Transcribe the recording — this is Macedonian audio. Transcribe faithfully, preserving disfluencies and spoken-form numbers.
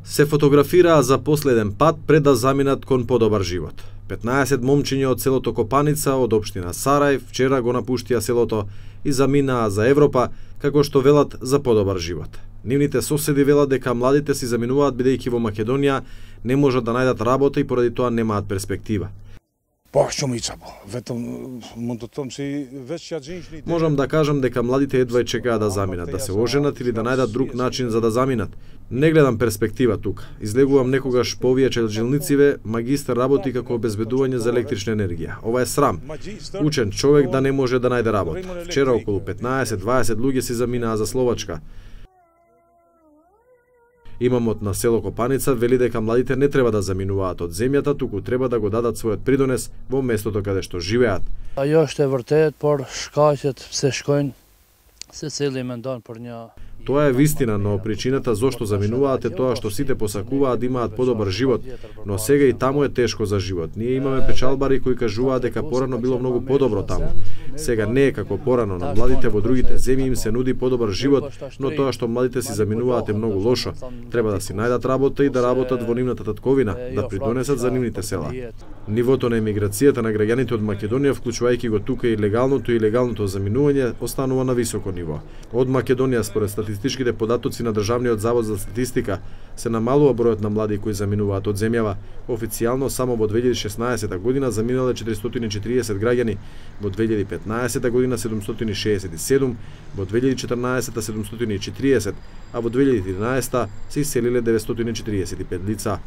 Се фотографираа за последен пат пред да заминат кон подобар живот. петнаесет момчиња од селото Копаница од општина Сарај вчера го напуштија селото и заминаа за Европа, како што велат за подобар живот. Нивните соседи велат дека младите си заминуваат бидејќи во Македонија не можат да најдат работа и поради тоа немаат перспектива. Можам да кажам дека младите едва чекаат да заминат, да се оженат или да најдат друг начин за да заминат. Не гледам перспектива тука. Излегувам некогаш по овие челжилнициве, магистар работи како обезбедување за електрична енергија. Ова е срам. Учен човек да не може да најде работа. Вчера околу петнаесет-дваесет луѓе си заминаа за Словачка. Имамот на село Копаница вели дека младите не треба да заминуваат од земјата, туку треба да го дадат својот придонес во местото каде што живеат. Аjo është e vërtet, por shkaqet pse shkojnë secili mendon për një. Тоа е вистина, но причината зошто заминуваат е тоа што сите посакуваат да имаат подобар живот, но сега и таму е тешко за живот. Ние имаме печалбари кои кажуваат дека порано било многу подобро таму. Сега не е како порано, на младите во другите земји им се нуди подобар живот, но тоа што младите си заминуваат е многу лошо. Треба да си најдат работа и да работат во нивната татковина, да придонесат за нивните села. Нивото на емиграцијата на граѓаните од Македонија, вклучувајќи го тука и легалното и илегалното заминување, останува на високо ниво. Од Македонија, според статистичките податоци на Државниот завод за статистика, се намалува бројот на млади кои заминуваат од земјава. Официјално само во две илјади и шеснаесета година заминале четиристотини и четириесет граѓани, во две илјади и петнаесета година седумстотини и шеесет и седум, во две илјади и четрнаесета седумстотини и четириесет, а во две илјади и тринаесета се иселиле деветстотини и четириесет и пет лица.